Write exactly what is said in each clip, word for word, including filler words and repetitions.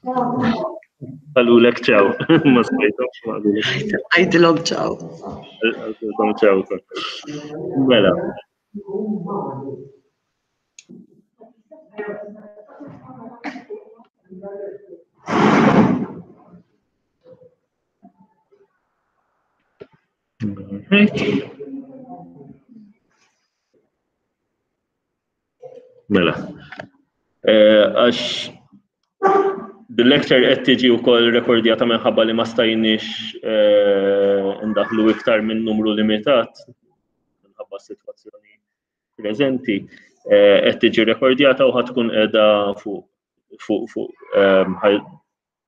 Qalulek ċaw. Ma smajthomx ma qalulek. Għidilhom ċaw. Qalulhom ċaw. Mela. Right. Mela. Eh, għax bil-lecture qed tiġi wkoll rekordjata minħabba li ma stajniex eh, ndaħlu iktar minn numru limitat minħabba s-sitwazzjoni preżenti, eh, qed tiġi rekordjata u ħatkun qiegħda fuq fuq fuq ehm,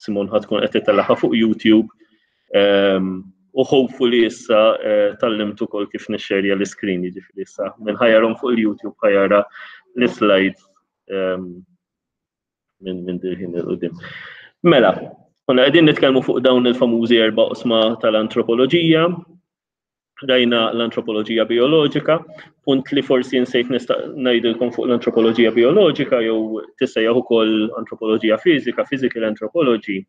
Simon ħatkun qed titellagħha fuq YouTube ehm, u hopefully issa eh, tallimt ukoll kif nixxerja l-iskrin, jiġifieri issa minn ħajarhom fuq il-YouTube ħajara l-slides ehm, minn minn dirħin il-qudiem. Mela, konna qegħdin nitkellmu fuq dawn il-famużi erba' qosma tal-antropoloġija, rajna l-antropoloġija bioloġika, punt li forsi nsejt nista' ngħidilkom fuq l-antropoloġija bioloġika jew tissejjaħ ukoll antropoloġija fiżika, physical anthropology,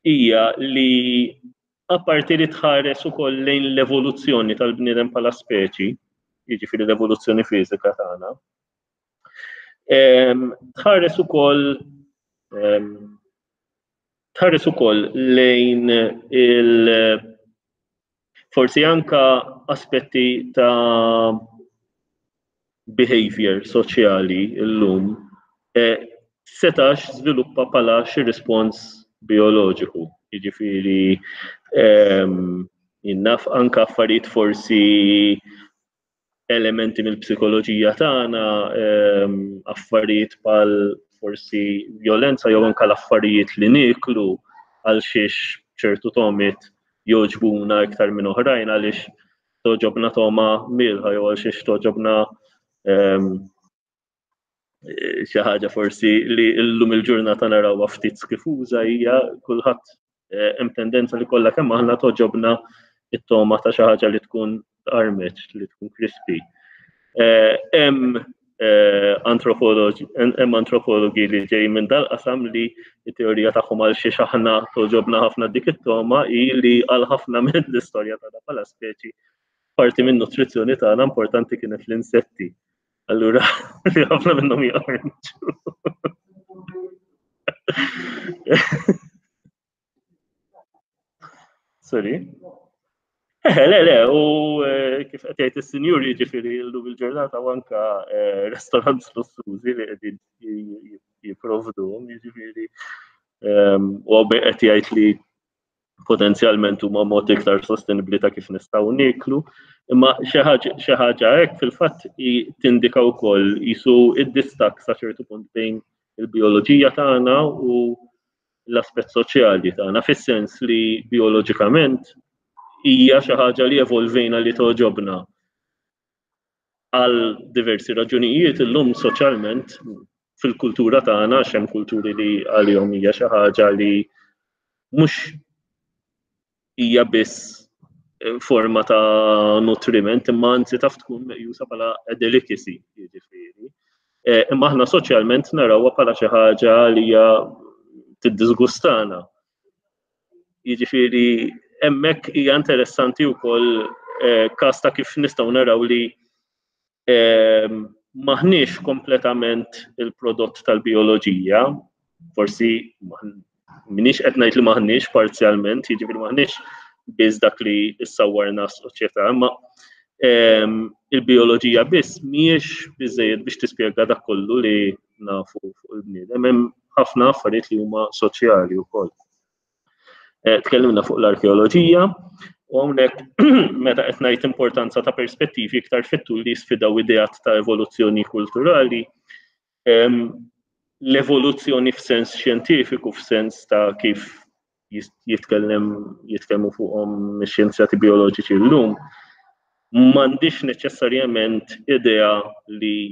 hija li apparti li tħares ukoll lejn l-evoluzzjoni tal-bniedem bħala speċi, jiġifieri l-evoluzzjoni fiżika tagħna, ehm, tħares ukoll ehm, tħares ukoll lejn il- forsi anka aspetti ta' behavior soċjali llum eh, setax żviluppa bħala xi rispons bioloġiku. Jiġifieri ehm, jinnaf anka affarijiet forsi elementi mill-psikoloġija tagħna, ehm, affarijiet bħal forsi violenza jew anka l-affarijiet li nieklu għal xiex ċertu tomit jogħġbuna iktar minn oħrajn għaliex toġobna toma milħa jew għal xiex toġobna ehm, xi ħaġa forsi li llum il-ġurnata narawha ftit skifuża hija kulħadd eh, hemm tendenza li kollha kemm aħna toġobna it-toma ta' xi ħaġa li tkun armeċ, li tkun crispy. Eh, hemm eh, antropologi hemm antropologi li ġej minn dal-qasam li t-teorija tagħhom għal xi aħna toġobna ħafna dik it-toma hi li għal ħafna minn l-istorja tagħna bħala speċi parti minn nutrizzjoni tagħna importanti kienet l-insetti. Allura, li ħafna minnhom jaqarġu. Sorry. Eh, le, le, u eh, kif qed jgħid is-sinjur jiġifieri llum il-ġurnata u anka eh, restaurants lussużi li qegħdin jipprovduhom, jiġifieri ehm, u qed jgħid li potenzjalment huma mod iktar sostenibbli ta' kif nistgħu nieklu, imma xi ħaġa hekk fil-fatt tindika wkoll jisu id-distakk sa ċertu punt bejn il-bioloġija tagħna u l-aspett soċjali tagħna fis-sens li bioloġikament hija xi ħaġa li evolvejna li toġobna għal diversi raġunijiet illum soċjalment fil-kultura tagħna għax hemm kulturi li għalihom hija xi ħaġa li mhux hija biss eh, forma ta' nutriment imma anzi taf tkun meqjusa bħala delicacy, jiġifieri. Eh, imma aħna soċjalment narawha bħala xi ħaġa li hija tiddisgustana. Jiġifieri hemmhekk hija interessanti wkoll eh, każ ta' kif nistgħu naraw li ehm, maħniex kompletament il-prodott tal-bioloġija, forsi minix qed ngħid li maħniex parzjalment, jiġifieri maħniex biss dak li issawwarna s-soċjetà, imma ehm, il-bioloġija biss mhijiex biżejjed biex tispjega dak kollu li nafu fuq il-bniedem. Hemm ħafna affarijiet li huma soċjali wkoll. Eh, tkellimna fuq l-arkeoloġija u hawnhekk meta qed ngħid importanza ta' perspettivi iktar fit-tul li jisfidaw ideat ta' evoluzzjoni kulturali, ehm, l-evoluzzjoni f'sens xjentifiku, f'sens ta' kif jitkellem jitkellmu fuqhom ix-xjenzjati bioloġiċi llum, m'għandix neċessarjament idea li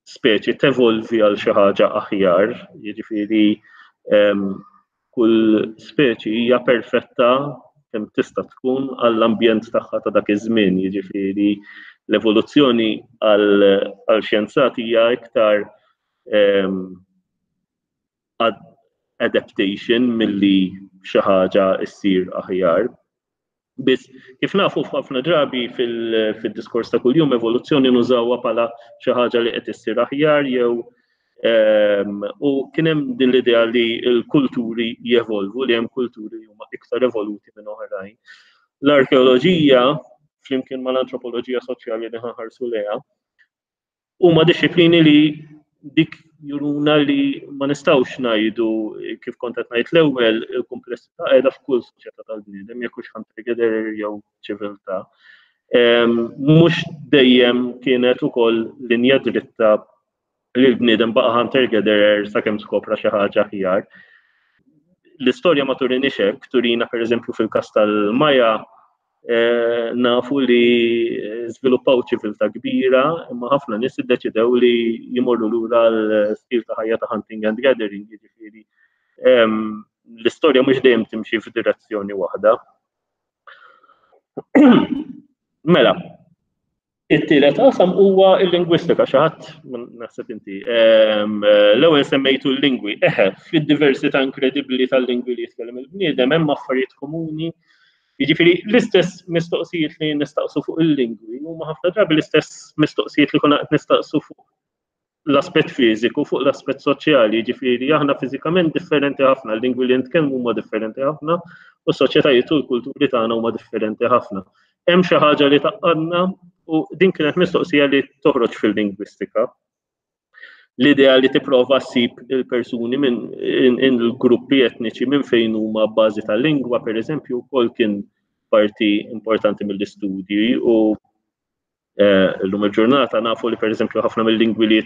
speċi tevolvi għal xi ħaġa aħjar, jiġifieri ehm, kull speċi hija perfetta kemm tista' tkun għall-ambjent tagħha ta' dak iż-żmien, jiġifieri l-evoluzzjoni għal xjenzati hija iktar ehm, adaptation milli xi ħaġa ssir aħjar. Biss kif nafu, f'ħafna drabi fil-diskors ta' kuljum evoluzzjoni nużawha bħala xi ħaġa li qed issir aħjar jew ehm, u kien hemm din l-idea li l-kulturi jevolvu, li hemm kulturi li huma iktar evoluti minn oħrajn. L-arkeoloġija, flimkien mal-antropoloġija soċjali li ħarsu lejha, huma disċiplini li dik juruna li ma nistgħux ngħidu, kif kont qed ngħid l-ewwel, il-kumplessità qiegħda f'kull soċjetà tal-bniedem, jekk hux hunter-gatherer jew ċiviltà. Mhux dejjem kienet ukoll linja dritta li l-bniedem baqa' hunter-gatherer sakemm skopra xi ħaġa aħjar. L-istorja ma turinix hekk, turina pereżempju fil-każ tal-Maja Eh, nafu li żviluppaw ċiviltà kbira, imma ħafna nies iddeċidew li jimorru lura l-stil ta' ħajja ta' hunting and gathering, jiġifieri l-istorja mhux dejjem timxi f'direzzjoni waħda. Mela, it-tielet qasam huwa l-lingwistika. Xi ħadd, naħseb inti, l-ewwel semmejtu l-lingwi. Eħe, fid-diversità inkredibbli tal-lingwi li jitkellem il-bniedem hemm affarijiet komuni. Jiġifieri l-istess mistoqsijiet li nistaqsu fuq il-lingwi huma ħafna drabi l-istess mistoqsijiet li konna qed nistaqsu fuq l-aspett fiżiku, fuq l-aspett soċjali, jiġifieri aħna fiżikament differenti ħafna, l-lingwi li nitkellmu huma differenti ħafna u s-soċjetajiet u l-kulturi tagħna huma differenti ħafna. Hemm xi ħaġa li tgħaqqadna? U din kienet mistoqsija li toħroġ fil-lingwistika. L-idea li tipprova ssib il-persuni minn il-gruppi etniċi minn fejn huma bażi tal-lingwa, per eżempju, wkoll kien parti importanti mill-istudji u eh, l-lum il-ġurnata nafu li, per eżempju, ħafna mill-lingwi li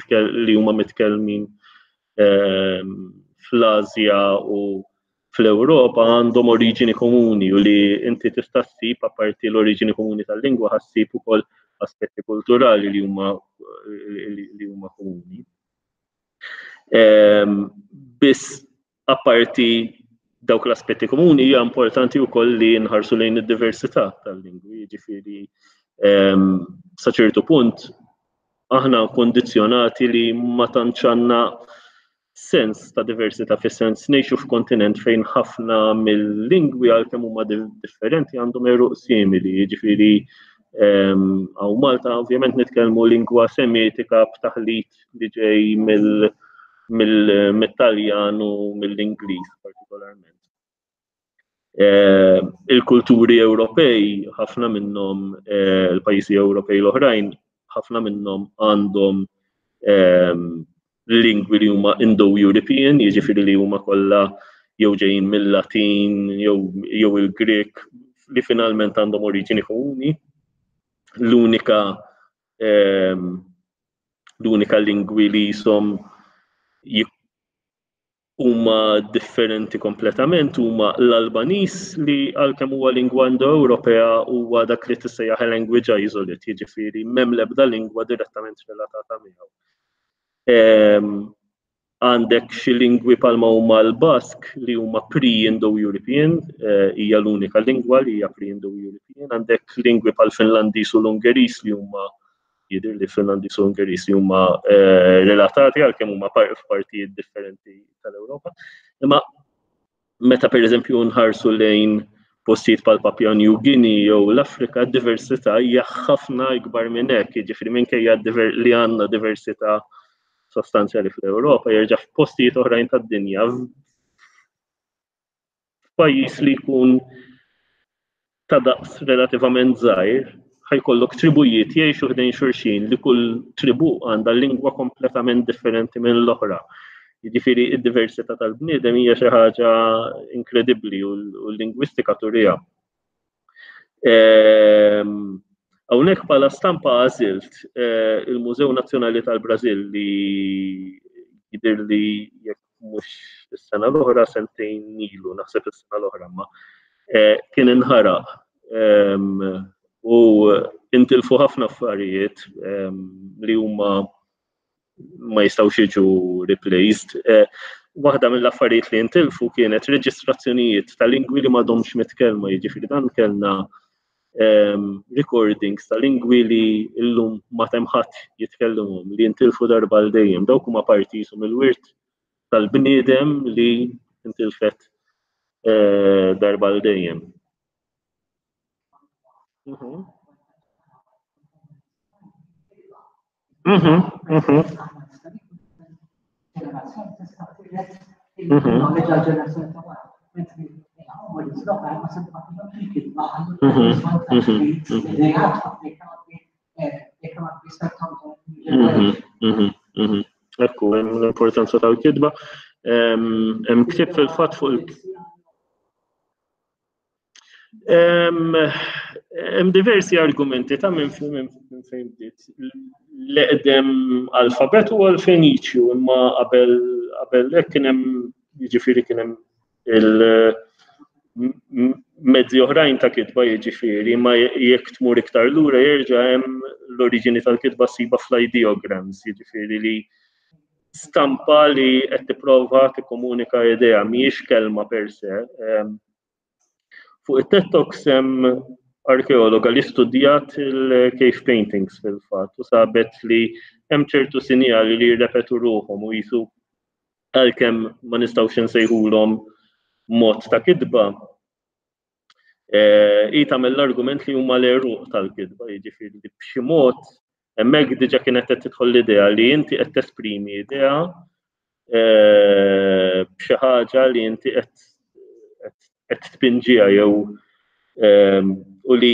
li huma mitkellmin eh, fl-Asja u fl-Ewropa għandhom oriġini komuni u li inti tista' ssib, apparti l-oriġini komuni tal-lingwa, ħa ssib ukoll aspetti kulturali li huma li huma komuni. Ehm, biss apparti dawk l-aspetti komuni, hija importanti wkoll li nħarsu lejn id-diversità tal-lingwi, jiġifieri ehm, sa ċertu punt aħna kondizzjonati li ma tantx għandna sens ta' diversità, fis-sens ngħixu f'kontinent fejn ħafna mill-lingwi, għalkemm huma differenti, għandhom għeruq simili, jiġifieri hawn Malta ovvjament nitkellmu lingwa Semitika b'taħlit li ġej mill-Taljan u mill-Ingliż partikolarment. Il-kulturi Ewropej, ħafna minnhom, eh, il-pajjiżi Ewropej l-oħrajn, ħafna minnhom għandhom lingwi li huma Indo-European, jiġifieri li huma kollha jew ġejjin mill-Latin jew il-Grek, li finalment għandhom oriġini komuni. L-unika ehm, l-unika lingwi li jisom huma differenti kompletament huma l-Albaniż, li għalkemm huwa lingwa Indo-Ewropea huwa dak li tissejjaħ language isolate, jiġifieri m'hemm l-ebda lingwa direttament relatata miegħu. Ehm, għandek xi lingwi bħalma huma l-Bask li huma pre-Indo-European, eh, hija l-unika lingwa li hija pre-Indo-European. Għandek lingwi bħal Finlandiż u l-Ungeriż li huma, jidher li Finlandiż u Ungeriż li huma eh, relatati għalkemm huma f'partijiet differenti tal-Ewropa. Imma meta, pereżempju, nħarsu lejn postijiet bħal Papua New Guinea jew l-Afrika, diversità hija ħafna ikbar minn hekk, jiġifieri minkejja li għandna diversità sostanzjali fl-Ewropa, jerġa' f'postijiet oħrajn tad-dinja, f'pajjiż li jkun ta' daqs relativament żgħir, ħa jkollok tribujiet jgħixu ħdejn xulxin li kull tribu għandha lingwa kompletament differenti minn l-oħra. Jiġifieri id-diversità tal-bniedem hija xi ħaġa inkredibbli u l-lingwistika turiha. Ehm, hawnhekk bħala stampa għażilt eh, il-Mużew Nazzjonali tal-Brażil li jidher li jekk mhux is-sena l-oħra, sentejn ilu, naħseb is-sena l-oħra, ma eh, kien inħaraq ehm, u intilfu ħafna affarijiet ehm, li huma ma jistgħux jiġu replaced. Eh, waħda mill-affarijiet li intilfu kienet reġistrazzjonijiet ta' lingwi li m'għadhomx mitkellma, jiġifieri dan kellna um, recordings ta' lingwi li llum ma ħadd jitkellimhom, li jintilfu darba għal dejjem. Dawk huma parti mill-wirt tal-bniedem li intilfet eh, darba l dejjem. Mhm. Mhm, mhm. Ekku, hemm l-importanza tal-kitba. Hemm ktieb fil-fatt fuq il- Hemm diversi argumenti ta' minn fejn bdiet. L-eqdem alfabet huwa l-Feniċju, imma qabel qabel hekk kien hemm, jiġifieri kien hemm il-mezzi oħrajn ta' kitba, jiġifieri, imma jekk tmur iktar lura jerġa' hemm l-oriġini tal-kitba ssiba fl-ideograms, jiġifieri li stampa li qed tipprova tikkomunika idea, mhijiex kelma per se. Fuq it-TED Talks hemm arkeologa li studjat il-cave paintings fil-fatt u sabet li hemm ċertu sinjali li jirrepetu ruħhom u jisu għalkemm ma nistgħux insejħulhom mod ta' kitba, hi tagħmel l-argument li huma l-għeruq tal-kitba, jiġifieri li b'xi mod hemmhekk diġà kienet qed tidħol l-idea li inti qed tesprimi idea b'xi ħaġa li inti qed qed tpinġiha jew u li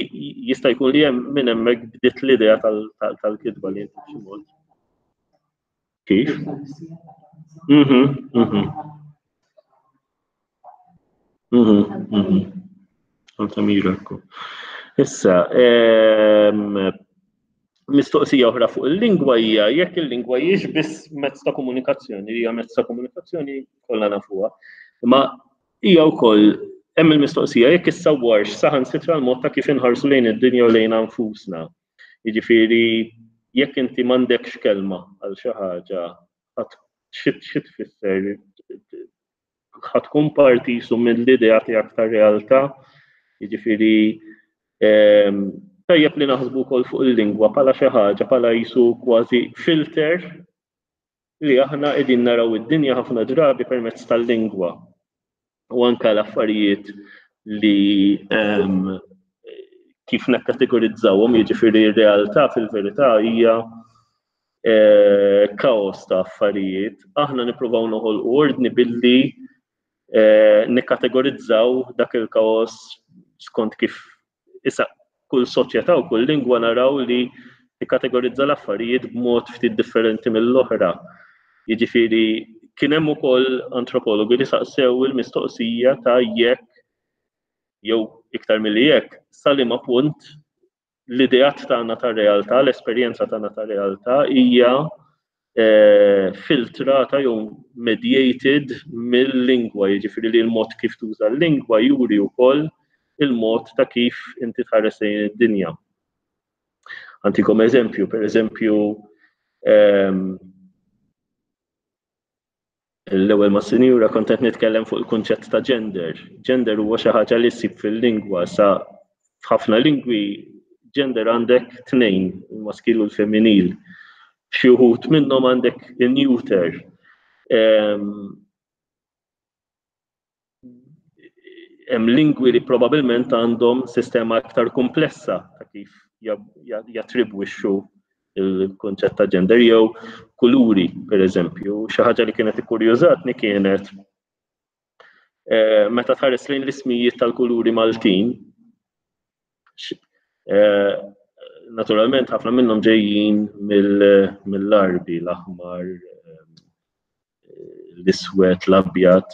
jista' jkun li hemm minn hemmhekk bdiet l-idea tal-kitba li inti b'xi mod. Kif? Mhm, mhm. Mhm, mhm. Altamira. Issa, mistoqsija oħra fuq il-lingwa hija jekk il-lingwa hijiex biss mezz ta' komunikazzjoni, hija mezz ta' komunikazzjoni kollha nafuha, imma hija wkoll hemm il-mistoqsija jekk issawwarx saħansitra l-mod ta' kif inħarsu lejn id-dinja u lejn anfusna. Jiġifieri jekk inti m'għandekx kelma għal xi ħaġa, xi tfisser, ħa tkun parti jisu mill-idea tiegħek tar-realtà. Jiġifieri tajjeb li naħsbu wkoll fuq il-lingwa bħala xi ħaġa, bħala jisu kważi filter li aħna qegħdin naraw id-dinja ħafna drabi permezz tal-lingwa. U anka l-affarijiet li kif nekkategorizzawhom, jiġifieri r-realtà fil-verità hija kaos ta' affarijiet. Aħna nippruvaw noħolqu ordni billi nikkategorizzaw dak il-kaos skont kif issa kull soċjetà u kull lingwa naraw li tikkategorizza l-affarijiet b'mod ftit differenti mill-oħra. Jiġifieri kien hemm ukoll antropologi li saqsew il-mistoqsija ta' jekk jew iktar milli jekk sa liema punt l-ideat tagħna tar-realtà, l-esperjenza tagħna tar-realtà hija filtrata jew mediated mill-lingwa, jiġifieri li l-mod kif tuża l-lingwa juri wkoll il-mod ta' kif inti tħares lejn id-dinja. Antikom eżempju, per eżempju, l-ewwel ma' sinjura kont qed nitkellem fuq il-kunċett ta' gender. Gender huwa xi ħaġa li ssib fil-lingwa, sa f'ħafna lingwi gender għandek tnejn, il-maskil u l-femminil. Xi wħud minnhom għandek in-neuter. Hemm lingwi li probabbilment għandhom sistema aktar komplessa ta' kif jattribwixxu il-konċett ta' gender jew kuluri, per eżempju. Xi ħaġa li kienet ikkurjużatni kienet meta tħares lejn l-ismijiet tal-kuluri Maltin, naturalment ħafna minnhom ġejjin mill-Arbi, l-aħmar, l-iswed, l-abjad,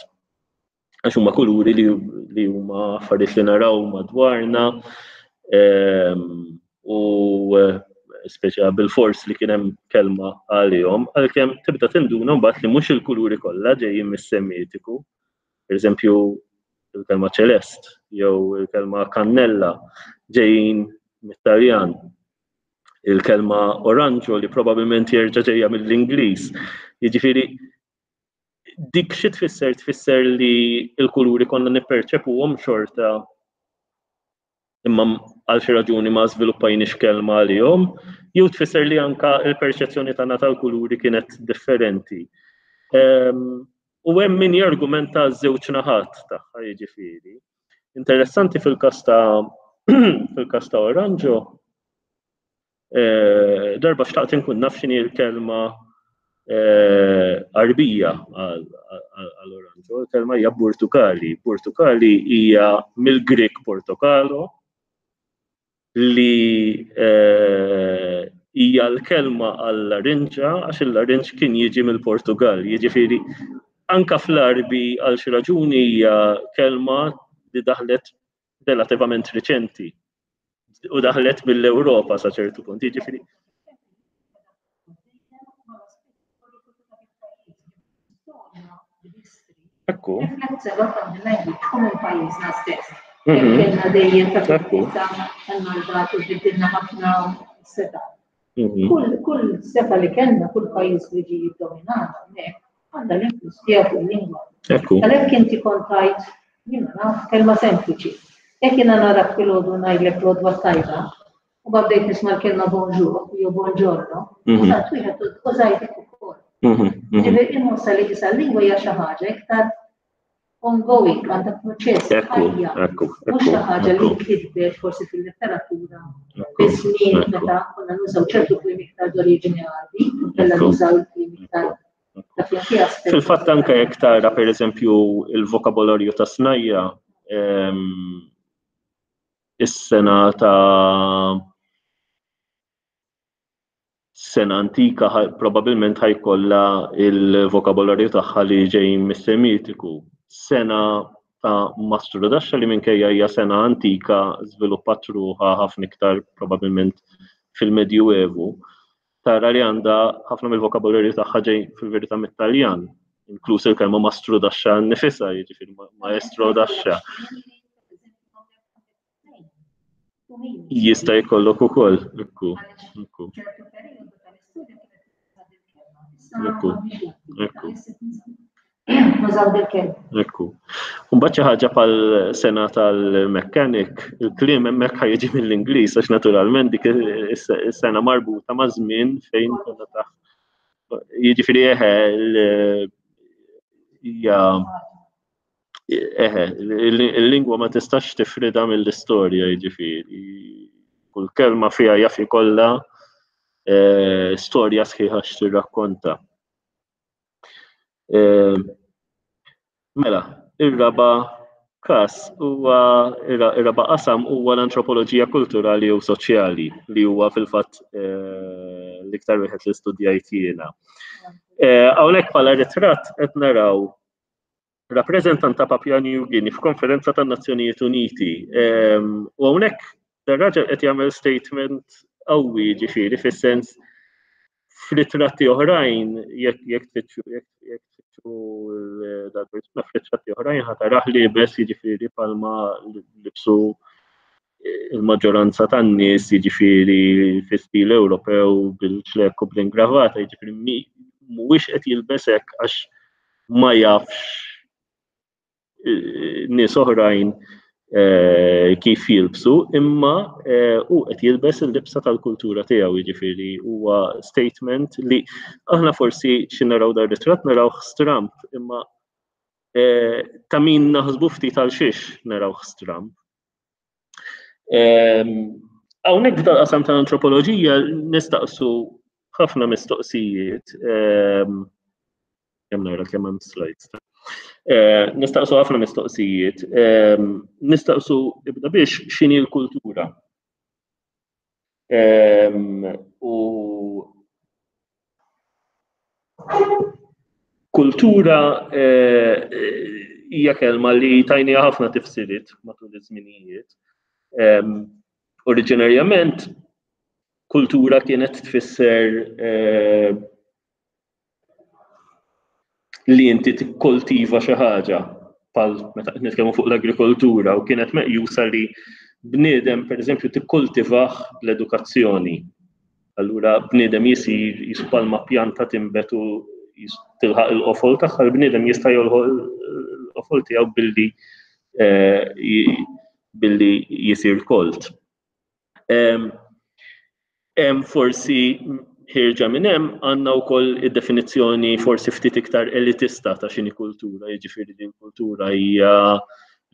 għax huma kuluri li huma affarijiet li naraw madwarna u speċa bil-fors li kien hemm kelma għalihom, għalkemm tibda tinduna mbagħad li mhux il-kuluri kollha ġejjin mis-Semitiku. Per eżempju, il-kelma ċelest jew il-kelma kannella ġejjin mit-Taljan. Il-kelma oranġo li probabbilment jerġa' ġejja mill-Ingliż. Jiġifieri dik xi tfisser? Tfisser li l-kuluri konna nipperċepuhom xorta imma għal xi raġuni ma żviluppajniex kelma għalihom, jew tfisser li anka l-perċezzjoni tagħna tal-kuluri kienet differenti. U hemm min jargumenta żewġ naħat tagħha jiġifieri. Interessanti fil-każ ta' fil-każ ta' Oranġo, eh, darba xtaqt inkun naf x'inhi l-kelma eh, Arbija għal oranġo, il-kelma hija Burtukali. Burtukali hija mill-Grek Portokalo li eh, hija l-kelma għall-larinġa għax il-larinġ kien jiġi mill-Portugal. Jiġifieri anka fl-Arbi għal xi raġuni hija kelma li daħlet relativament riċenti u daħlet mill-Ewropa sa ċertu punt. Jiġifieri Ekku. Kellna dejjem ta' tal-mandat u biddilna ħafna seta. Kull kull seta li kellna, kull pajjiż li ġie jiddominana hawnhekk, għandha l-influss tiegħu fuq il-lingwa. Għalhekk inti kont tgħid, jiena naf kelma sempliċi. Jekk jiena narak filgħodu ngħidlek l-għodwa tajba, u bdejt nisma' l-kelma bonjour jew buongiorno, użajt wieħed użajtek ukoll. Ġifieri inħossha li issa l-lingwa hija xi ħaġa iktar ongoing, għandha proċess ħajja. Mhux xi ħaġa li nkitbet forsi fil-letteratura fi żmien meta konna nużaw ċertu kliem iktar d'oriġini Għarbi, kellna nużaw il-kliem iktar Fil-fatt anke jekk tara pereżempju il-vokabolarju ta' snajja, is-sena ta' sena antika probabbilment ħajkollha il-vokabolarju tagħha li ġej mis-Semitiku. Sena ta' Mastru Daxxa li minkejja hija sena antika żviluppat ruħha ħafna iktar probabbilment fil-Medjuevu. Tara li għandha ħafna mill-vokabolarju tagħha ġej fil-verità mit-Taljan, inkluż il-kelma Mastru Daxxa nnifisha, jiġifieri Maestro Daxxa. Jista' jkollok ukoll, ekku, ekku. Ekku, ekku. Ekku. Mbagħad xi ħaġa bħal sena tal-mechanic, il-kliem hemmhekk ħa jiġi mill-Ingliż għax naturalment dik is-sena marbuta ma' żmien fejn konna taħt. Jiġifieri eħe hija eħe, il-lingwa ma tistax tifrida mill-istorja, jiġifieri. Kull kelma fiha jaf ikollha storja sħiħa x'tirrakkonta. Mela, ir-raba' każ huwa ir-raba' qasam huwa l-antropoloġija kulturali u soċjali li huwa fil-fatt l-iktar wieħed li studjajt jiena. Hawnhekk bħala ritratt qed naraw rappreżentant ta' Papua New Guinea f'konferenza tan-Nazzjonijiet Uniti. U hawnhekk dar-raġel qed jagħmel statement qawwi, ġifieri fis-sens f'ritratti oħrajn, jekk jekk tfittxu jekk tfittxu dal-persuna f'ritratti oħrajn ħa tarah liebes jiġifieri palma libsu il-maġġoranza tan-nies jiġifieri fi stil Ewropew bil-ċlekk u bl-ingravata, jiġifieri mhuwiex qed jilbes hekk għax ma jafx nies oħrajn kif jilbsu, imma hu qed jilbes il-libsa tal-kultura tiegħu, jiġifieri huwa statement li aħna forsi xi naraw dar ritratt narawh stramp, imma ta' min naħsbu ftit għal xiex narawh stramp. Hawnhekk f'dal-qasam tal-antropoloġija nistaqsu ħafna mistoqsijiet, kemm nara kemm hemm slides. Nistaqsu ħafna mistoqsijiet, nistaqsu ibda biex x'inhi l-kultura. U kultura hija kelma li tajniha ħafna tifsiriet matul iż-żminijiet. Oriġinarjament kultura kienet tfisser li inti tikkoltiva xi ħaġa, bħal meta qed nitkellmu fuq l-agrikoltura, u kienet meqjusa li bniedem pereżempju tikkoltivah bl-edukazzjoni. Allura bniedem jisir jisu palma pjanta tinbet u tilħaq il-qofol tagħha, l-bniedem jista' jolħoq il-qofol tiegħu billi billi jisir kolt. Hemm forsi Ħierġa minn hemm għandna wkoll id-definizzjoni forsi ftit iktar elitista ta' x'inhi kultura, jiġifieri li l-kultura hija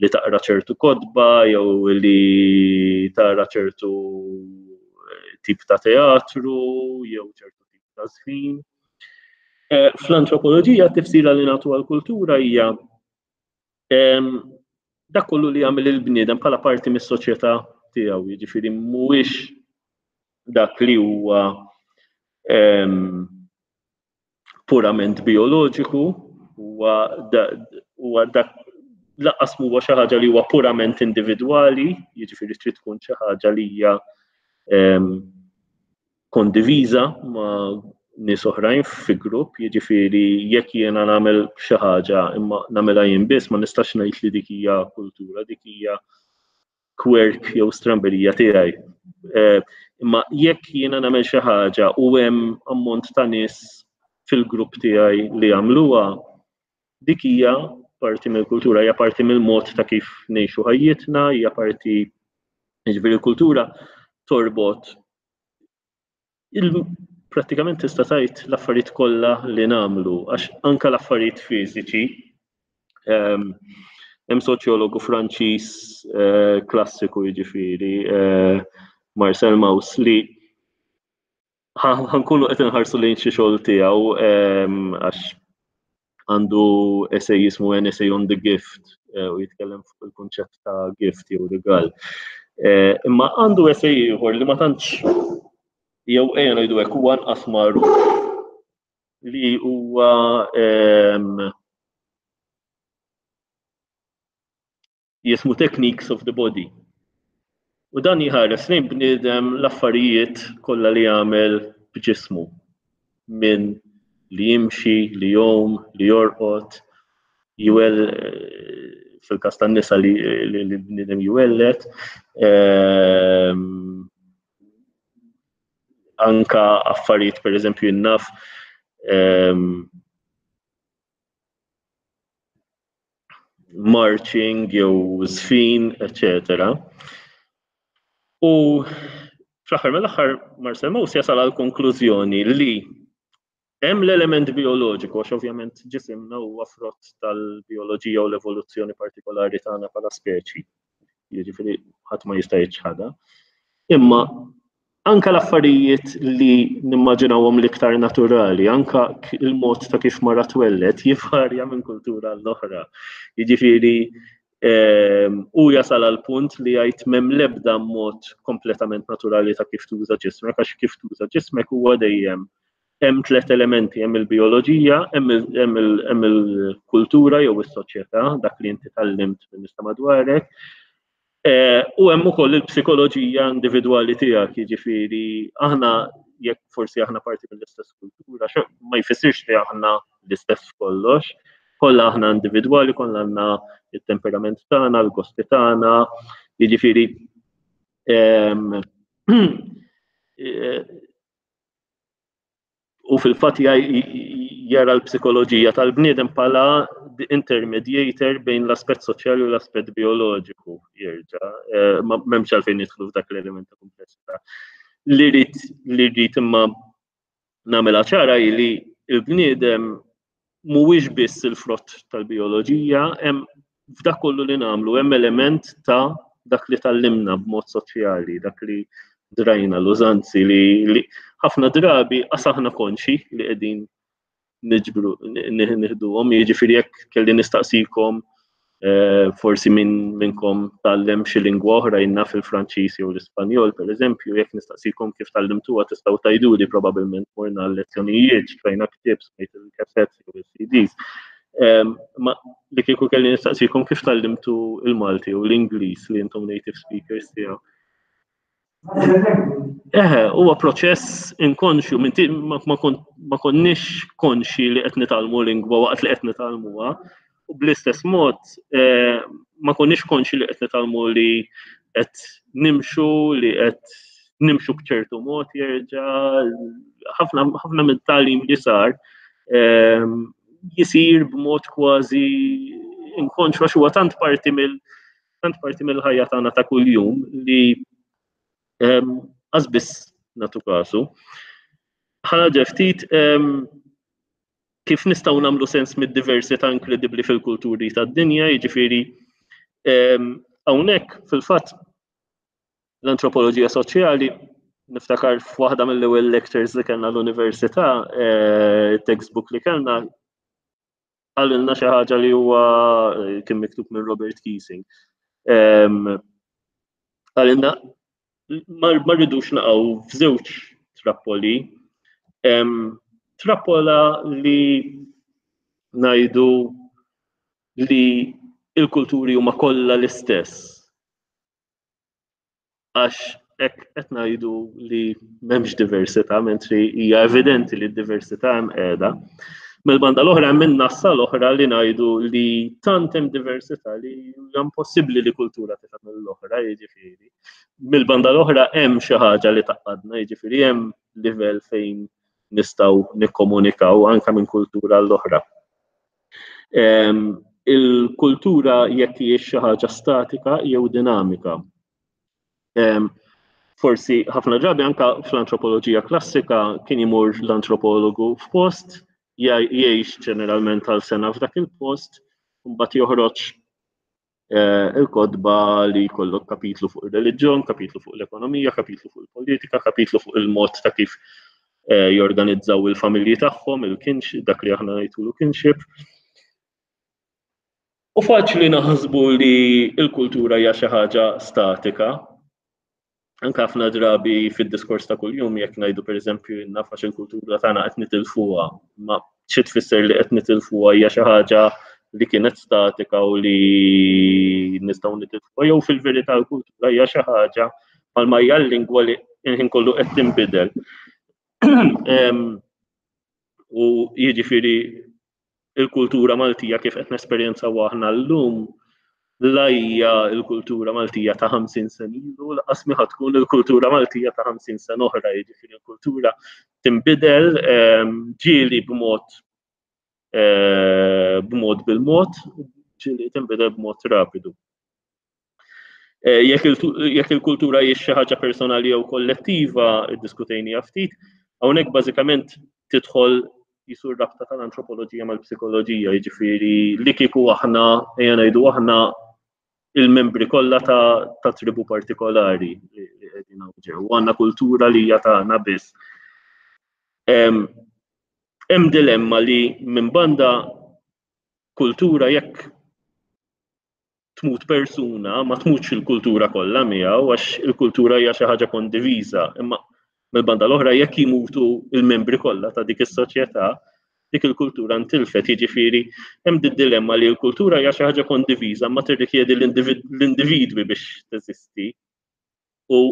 li taqra ċertu kotba jew li tara ċertu tip ta' teatru jew ċertu tip ta' żfin. Fl-antropoloġija t-tifsira li nagħtu għall-kultura hija dak kollu li jagħmel il-bniedem bħala parti mis-soċjetà tiegħu, jiġifieri mhuwiex dak li huwa purament bioloġiku, huwa dak lanqas huwa xi ħaġa li huwa purament individwali, jiġifieri trid tkun xi ħaġa li hija kondiviża ma' nies oħrajn fi grupp, jiġifieri jekk jiena nagħmel xi ħaġa imma nagħmilha jien biss ma nistax ngħid li dik hija kultura, dik hija quirk jew stramberija tiegħi. Imma jekk jiena nagħmel xi ħaġa u hemm ammont ta' nies fil-grupp tiegħi li jagħmluha, dik hija parti mill-kultura, hija parti mill-mod ta' kif ngħixu ħajjitna, hija parti, jiġifieri l-kultura torbot prattikament tista' tgħid l-affarijiet kollha li nagħmlu, għax anke l-affarijiet fiżiċi. Hemm soċjologu Franċiż klassiku, jiġifieri Marcel Mauss, li ħankunu qed inħarsu lejn xi xogħol tiegħu għax għandu essay jismu An Essay on the Gift u jitkellem fuq il-kunċett ta' gift jew rigal. Imma għandu essay ieħor li ma tantx, jew ejja ngħidu hekk, huwa anqas magħruf, li huwa jismu Techniques of the Body. U dan jħares lejn bniedem l-affarijiet kollha li jagħmel b'ġismu, minn li jimxi, li jgħum, li jorqod, jwel fil-każ tan-nisa li l-bniedem jwellet, anka affarijiet pereżempju innaf marching jew żfin, eċċetera. U fl-aħħar mill-aħħar Marcel Mauss jasal għal konklużjoni li hemm l-element bioloġiku, għax ovvjament ġisimna huwa frott tal-bioloġija u l-evoluzzjoni partikolari tagħna bħala speċi, jiġifieri ħadd ma jista' jiċħadha. Imma anka l-affarijiet li nimmaġinawhom l-iktar naturali, anka il-mod ta' kif mara twellet, jivarja minn kultura l-oħra. Jiġifieri u jasal għal punt li jgħid m'hemm l-ebda mod kompletament naturali ta' kif tuża ġismek, għax kif tuża ġismek huwa dejjem hemm tliet elementi, hemm il-bioloġija, hemm il-kultura jew is-soċjetà, dak li inti tgħallimt minn nies ta' madwarek, u hemm ukoll il-psikoloġija individwali tiegħek, jiġifieri aħna jekk forsi aħna parti mill-istess kultura, ma jfissirx li aħna l-istess kollox, kollha aħna individwali, kollha għandna it-temperament tagħna, l-gosti tagħna, jiġifieri u fil-fatt jara l-psikoloġija tal-bniedem bħala intermediator bejn l-aspett soċjali u l-aspett bioloġiku, jerġa', m'hemmx għalfejn nidħlu f'dak l-element ta' kumplessità. Li rrid li rrid imma nagħmilha ċara hi li l-bniedem mhuwiex biss il-frott tal-bioloġija, hemm f'dak kollu li nagħmlu hemm element ta' dak li tgħallimna b'mod soċjali, dak li drajna, l-użanzi li ħafna drabi qas aħna konxi li qegħdin niġbru, nieħduhom, jiġifieri jekk kelli nistaqsikom forsi minn minnkom tgħallem xi lingwa oħra, jien naf il-Franċiż jew l-Ispanjol pereżempju, jekk nistaqsikom kif tgħallimtuha tistgħu tgħiduli probabbilment morna l-lezzjonijiet, xtrajna ktieb, smajt il-cassettes jew il-C Ds. Ma li kieku kelli nistaqsikom kif tgħallimtu il-Malti u l-Ingliż li intom native speakers tiegħu. Eħe, huwa proċess inkonxju, ma konniex konxi li qed nitgħallmu lingwa waqt li qed nitgħallmuha, u bl-istess mod ma konniex konxi li qed nitgħallmu li qed nimxu, li qed nimxu b'ċertu mod jerġa', ħafna mit-tagħlim li sar jisir b'mod kważi inkonxju għax huwa tant parti mill tant parti mill-ħajja tagħna ta' kuljum li qas biss nagħtu kasu. Ħa ftit kif nistgħu nagħmlu sens mid-diversità inkredibbli fil-kulturi tad-dinja, jiġifieri hawnhekk fil-fatt l-antropoloġija soċjali, niftakar f'waħda mill-ewwel lectures li kellna l-università, eh, textbook li kellna, qalilna xi ħaġa li huwa eh, kien miktub minn Robert Keesing. Qalilna ma rridux naqgħu f'żewġ trappoli. Trappola li ngħidu li il-kulturi huma kollha l-istess. Għax hekk qed ngħidu li m'hemmx diversità, mentri hija evidenti li d-diversità hemm qiegħda. Mill-banda l-oħra hemm in-nassa l-oħra li ngħidu li tant hemm diversità li hija impossibbli li kultura tifhem l-oħra, jiġifieri. Mill-banda l-oħra hemm xi ħaġa li tgħaqqadna, jiġifieri hemm livell fejn nistgħu nikkomunikaw anke minn kultura l-oħra. Il-kultura jekk hijiex xi ħaġa statika jew dinamika. Forsi ħafna drabi anka fl-antropoloġija klassika kien imur l-antropologu f'post, jgħix ġeneralment għal sena f'dak il-post, mbagħad joħroġ il-kotba li jkollok kapitlu fuq ir-reliġjon, kapitlu fuq l-ekonomija, kapitlu fuq il-politika, kapitlu fuq il-mod ta' kif jorganizzaw il-familji tagħhom, il-kinship, dak li aħna ngħidulu kinship. U faċli naħsbu li l-kultura hija xi ħaġa statika. Anke ħafna drabi fid-diskors ta' kuljum jekk ngħidu, pereżempju, naf għax il-kultura tagħna qed nitilfuha, ma xi tfisser li qed nitilfuha? Hija xi ħaġa li kienet statika u li nistgħu nitilfuha, jew fil-verità l-kultura hija xi ħaġa bħalma hija l-lingwa li il-ħin kollu qed tinbidel? U jiġifieri il-kultura Maltija kif qed nesperjenzaw aħna llum la hija l-kultura Maltija ta' ħamsin sena ilu, lanqas mi tkun il-kultura Maltija ta' ħamsin sena oħra, jiġifieri l-kultura tinbidel, ġieli b'mod b'mod bil-mod, ġieli tinbidel b'mod rapidu. Jekk il-kultura hija xi ħaġa personali jew kollettiva, iddiskutejniha ftit, hawnhekk bażikament tidħol jisur rabta tal-antropoloġija mal-psikoloġija, jiġifieri li kieku aħna, ejja ngħidu aħna il-membri kollha ta', ta tribu partikolari li qegħdin ġew, u għandna kultura li hija tagħna biss. Hemm dilemma li minn banda kultura, jekk tmut persuna, ma tmutx il-kultura kollha miegħu, għax il-kultura hija xi ħaġa kondiviża, imma mill-banda l-oħra jekk jimutu il-membri kollha ta' dik is-soċjetà, dik il-kultura ntilfet. Jiġifieri hemm di dilemma li l-kultura hija xi ħaġa kondiviża ma tirrikjedi l-individwi biex teżisti. U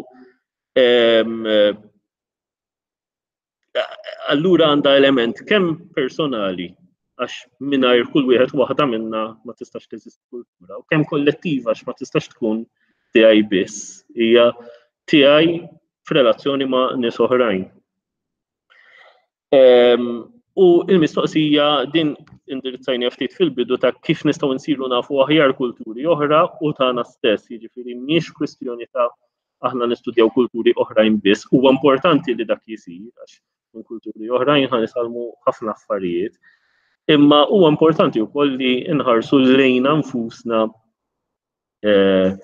allura għandha element kemm personali, għax mingħajr kull wieħed waħda minna ma tistax teżisti kultura, u kemm kollettiva, għax ma tistax tkun tiegħi biss, hija tiegħi f'relazzjoni ma' nies oħrajn. U il-mistoqsija din indirizzajni ftit fil-bidu ta' kif nistgħu nsiru nafu aħjar kulturi oħra u tagħna stess, jiġifieri mhix kwistjoni ta' aħna nistudjaw kulturi oħrajn biss, huwa importanti li dak jisir għax minn kulturi oħrajn ħa nitgħallmu ħafna affarijiet. Imma huwa importanti wkoll li nħarsu lejna nfusna eh,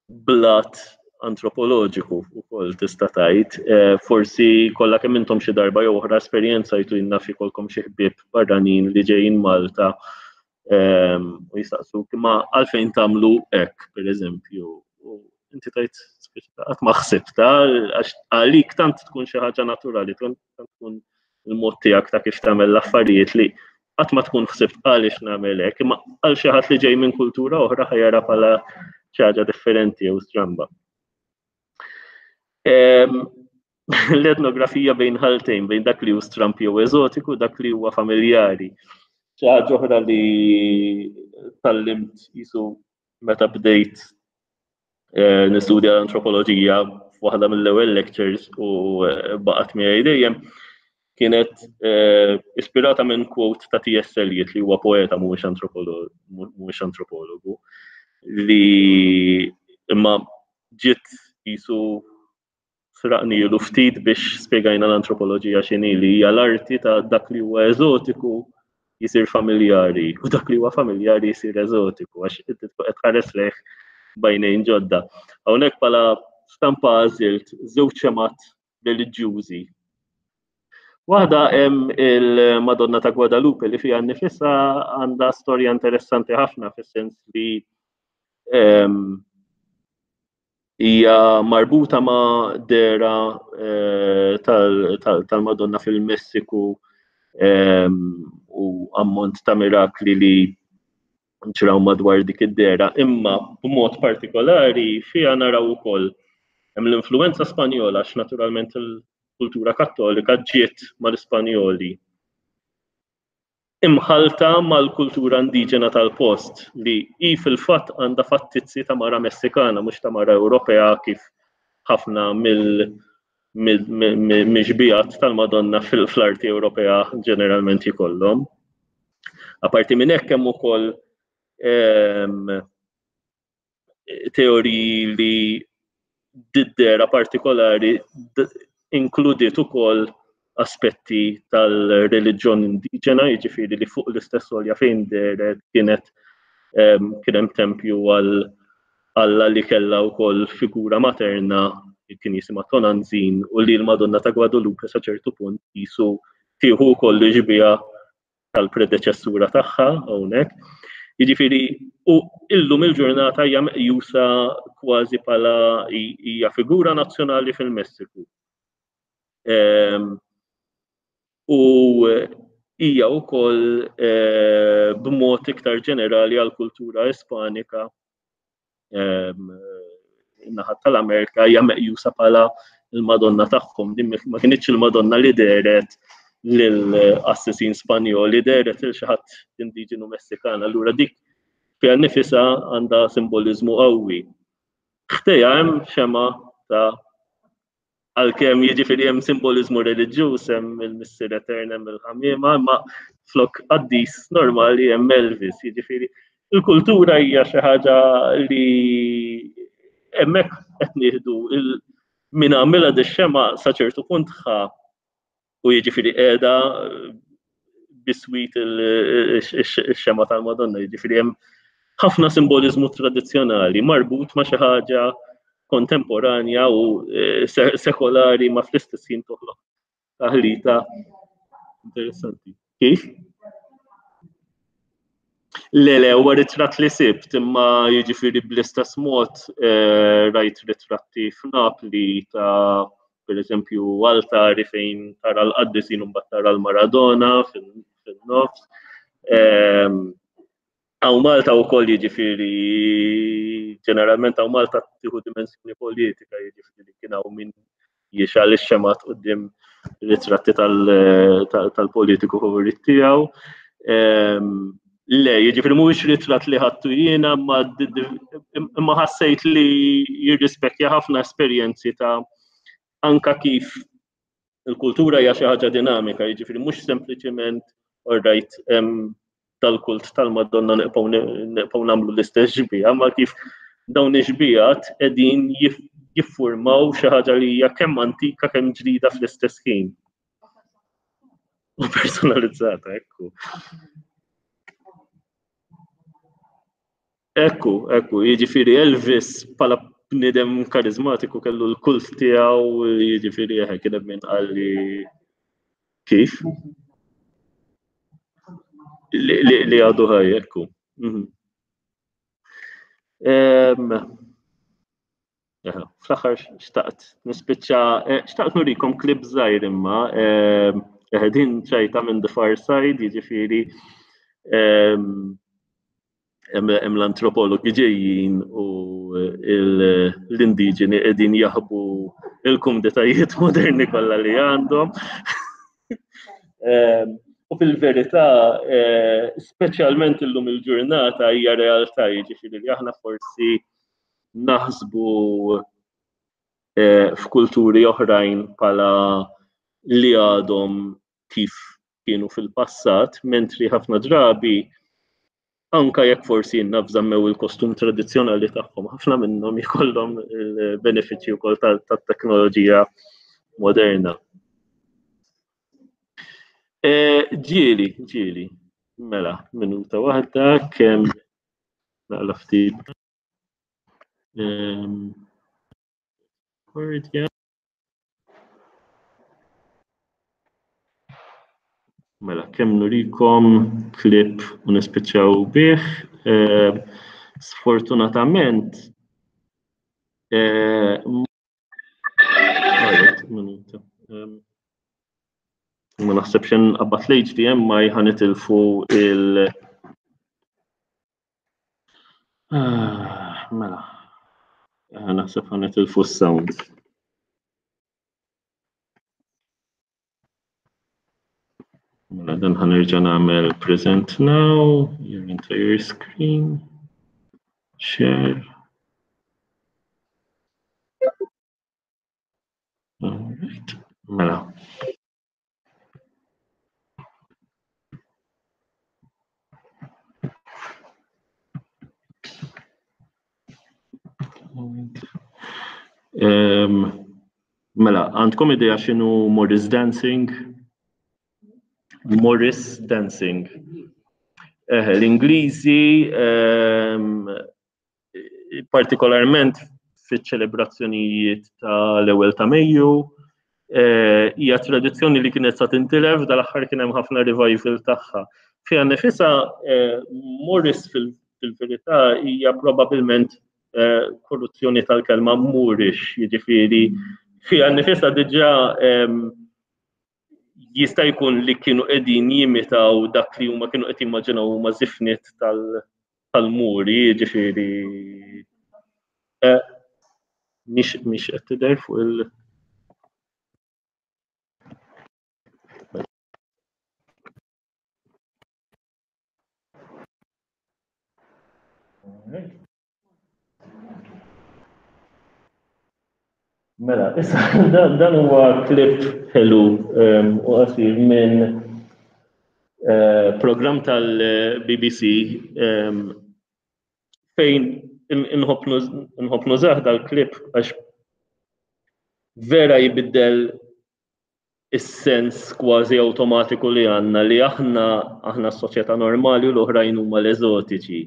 blat antropoloġiku ukoll, tista' tgħid. Eh, forsi kollha kemm intom xi darba jew oħra esperjenzajtu, naf ikolkom xi ħbieb barranin li ġejjin Malta ehm, u jistaqsuk imma għalfejn tagħmlu hekk, pereżempju. U inti tgħid, qatt ma ħsibta, għax għalik tant tkun xi ħaġa naturali, tant tkun il-mod tiegħek ta' kif tagħmel l-affarijiet li qatt ma tkun ħsibt għaliex nagħmel hekk, imma għal xi ħadd li ġej minn kultura oħra ħa jara bħala xi ħaġa differenti jew stramba. L-etnografija bejn ħaltejn, bejn dak li hu stramp jew eżotiku, dak li huwa familjari. Xi ħaġa oħra li tgħallimt jisu meta bdejt eh, nistudja l-antropoloġija f'waħda mill-ewwel lectures u eh, baqgħet miegħi dejjem kienet eh, ispirata minn quote ta' T S. Eliot, li huwa poeta, mhuwiex antropologu, li imma ġiet jisu sraqnilu ftit biex spjegajna l-antropoloġija x'inhi, li hija l-arti ta' dak li huwa eżotiku jisir familjari u dak li huwa familjari jisir eżotiku, għax inti tkun qed tħares lejh b'għajnejn ġodda. Hawnhekk bħala stampa għażilt żewġ xemgħat reliġjużi. Waħda hemm il-Madonna ta' Guadalupe li fiha nnifisha għandha storja interessanti ħafna, fis-sens li ehm, hija marbuta ma' dehra eh, tal-Madonna fil-Messiku ehm, u ammont ta' mirakli li ġraw madwar dik id-dehra, imma b'mod partikolari fiha naraw ukoll hemm l-influenza Spanjola, għax naturalment il-kultura Kattolika ġiet mal-Ispanjoli, imħalta mal-kultura indiġena tal-post, li hi fil-fatt għandha fattizzi ta' mara Messikana, mhux ta' mara Ewropea kif ħafna mill mixbijat tal-Madonna fl-arti Ewropea ġeneralment jkollhom. Aparti minn hekk hemm ukoll ehm, teoriji li d-dehra partikolari inkludiet ukoll aspetti tal-reliġjon indiġena, jiġifieri li fuq l-istess għolja fejn dehret kienet ehm, kien hemm tempju għal Alla li kellha wkoll figura materna li kien jisimha Tonantzin, u li l-Madonna ta' Guadalupe sa ċertu punt jisu tieħu wkoll xbieha tal-predeċessura tagħha hawnhekk. Jiġifieri, u illum il-ġurnata hija meqjusa kważi bħala hija figura nazzjonali fil-Messiku. Ehm, u hija wkoll eh, b'mod iktar ġenerali għall-kultura Ispanika ehm, in-naħa tal-Amerika hija meqjusa bħala il-Madonna tagħhom. Din ma kinitx il-Madonna li dehret lill-qassisin Spanjoli, dehret lil xi ħadd indiġenu Messikan. Allura dik fiha nnifisha għandha simboliżmu qawwi. Ħdejha hemm xema ta' għalkemm jiġifieri hemm simboliżmu reliġjuż, hemm il-Missier Etern, hemm il-ħamiema, imma flok qaddis normali hemm Elvis, jiġifieri il-kultura hija xi ħaġa li hemmhekk qed nieħdu min għamilha dix-xema sa ċertu punt ħa, u jiġifieri qiegħda biswit ix-xema tal-Madonna, jiġifieri hemm ħafna simboliżmu tradizzjonali marbut ma' xi ħaġa kontemporanja u eh, sekolari, ma fl-istess ħin toħloq taħlita interessanti. Kif? Le, le, huwa ritratt li sibt, imma jiġifieri bl-istess mod eh, rajt ritratti f'Napli ta' per eżempju altari fejn tara l-qaddisin u mbagħad tara l-Maradona fin-nofs. Ehm, hawn Malta wkoll, jiġifieri ġeneralment hawn Malta tieħu dimensjoni politika, jiġifieri kien hawn min jixgħel ix-xemgħat quddiem ritratti tal-politiku favorit tiegħu. Ehm, le, jiġifieri mhuwiex ritratt li ħadtu jiena, imma ħassejt li jirrispekja ħafna esperjenzi ta' anka kif il-kultura hija xi ħaġa dinamika, jiġifieri mhux sempliċiment, all right, tal-kult tal-Madonna nibqgħu nagħmlu l-istess xbieha, ma kif dawn ix-xbiehat qegħdin jiffurmaw xi ħaġa li hija kemm antika kemm ġdida fl-istess ħin. U personalizzata, ekku. Ekku, ekku, jiġifieri Elvis bħala bniedem karizmatiku kellu l-kult tiegħu, jiġifieri eħe kien hemm min qal li kif? Li għadu ħaj, ekku. Mhm. Fl-aħħar xtaqt nispiċċa, eh, xtaqt nurikom klip żgħir imma, eh, din ċajta minn The Far Side, jiġifieri hemm l-antropologi ġejjin u l-indiġeni qegħdin jaħbu il-kumditajiet moderni kollha li għandhom. U fil-verità, eh, speċjalment illum il-ġurnata hija realtà, jiġifieri li aħna forsi naħsbu eh, f'kulturi oħrajn bħala li għadhom kif kienu fil-passat, mentri ħafna drabi Anka jekk forsi jinnafżammew il-kostum tradizzjonali tagħhom, ħafna minnhom jkollhom il-benefiċċji wkoll tat-teknoloġija moderna. Ġieli, ġieli, mela, minuta waħda kemm naqla ftit. Mela, kemm nurikom klip u nispiċċaw bih. Sfortunatament, ma naħsebx nqabbad l-H D M I ħa nitilfu il- Mela, naħseb ħa nitilfu s-sound. Mela, dan ħa nerġa' nagħmel present now, your entire screen, share. All right, mela. Mela, għandkom idea x'inhu Morris Dancing? Morris Dancing. L-Ingliżi, partikolarment fiċ-ċelebrazzjonijiet tal-ewwel ta' Mejju, hija tradizzjoni li kienet sa tintilef, dal-aħħar kien hemm ħafna revival tagħha. Fiha nifisha, Morris fil-verità hija probabbilment korruzzjoni tal-kelma Moorish, jiġifieri fiha nifisha diġà jista' jkun li kienu qegħdin jimitaw dak li huma kienu qed jimmaġinaw huma żifniet tal-Muri, jiġifieri mhix mhix qed tidher fuq il- Mela, issa dan huwa klip ħelu u qasir minn programm tal-B B C fejn inħobb nużah dal-klip għax vera jibiddel is-sens kważi awtomatiku li għandna li aħna aħna s-soċjetà normali u l-oħrajn huma l-eżotiċi.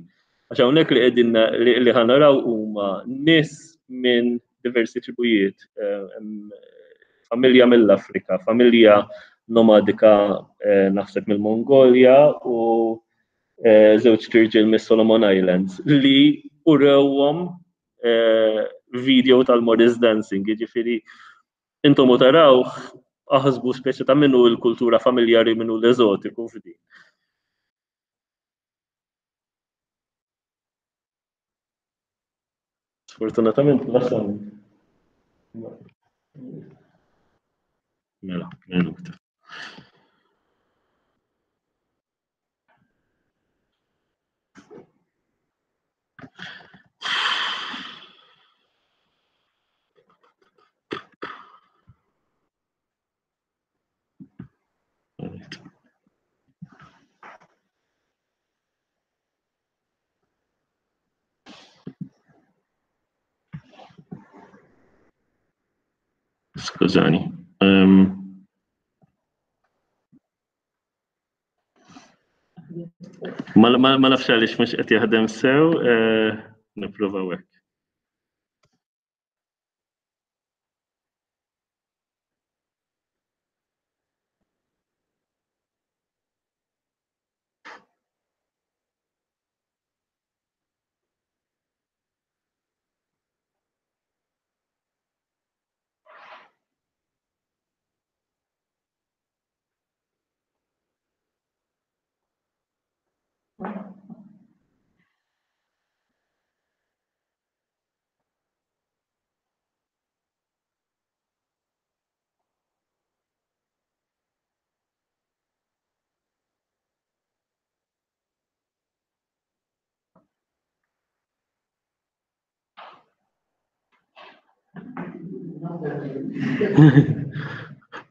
Għax hawnhekk li qegħdin li ħanaraw huma nies minn diversi tribujiet, familja mill-Afrika, familja nomadika naħseb mill-Mongolja u żewġ tirġiel mis-Solomon Islands li urewhom video tal-Morris Dancing, jiġifieri intom u taraw aħsbu speċi ta' minnu l-kultura familjari minnu l-eżotiku f'din. Sfortunatament la sound. Mela, minuta. Skużani. Ma nafx għaliex mhux qed jaħdem sew, nipprovaw hekk.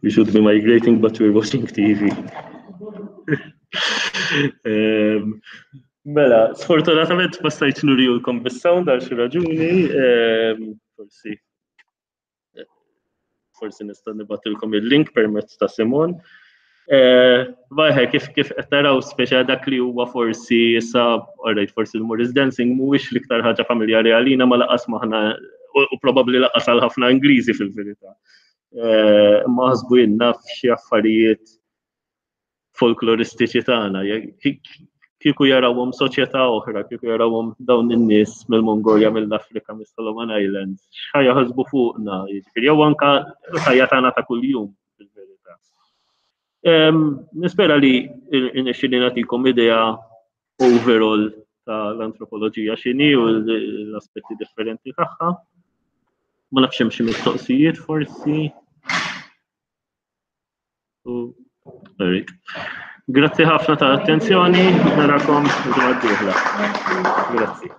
We should be migrating, but we're watching T V. um, Mela, sfortunatament ma stajtx nurijulkom bis-sound għal xi raġuni, ehm, forsi forsi nista' nibgħatilkom il-link permezz ta' Simon. Eh, Vajħe, kif kif qed naraw speċa dak li huwa forsi issa, alright, forsi l-Morris Dancing mhuwiex l-iktar ħaġa familjari għalina ma laqas maħna u probabbli laqas għal ħafna Ingliżi fil-verità. Eh, ma ħasbu jenna f'xi affarijiet folkloristiċi tagħna. Kieku jarawhom soċjetà oħra, kieku jarawhom dawn in-nies mill-Mongolja, mill-Afrika, mis-Solomon Islands, x'ħa jaħsbu fuqna, jiġifieri jew anka l-ħajja tagħna ta' kuljum fil-verità. Nispera li irnexxieli nagħtikom idea overall tal-antropoloġija x'inhi u l-aspetti differenti tagħha. Ma nafx hemm xi mistoqsijiet forsi. Grazzi ħafna tal-attenzjoni, narakom il-ġimgħa d-dieħla. Grazzi.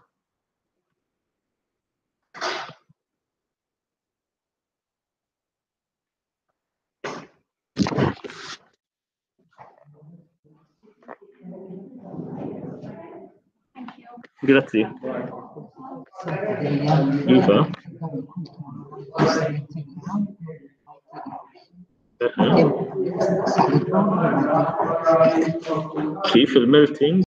Grazzi. Iva. Kif il-melting?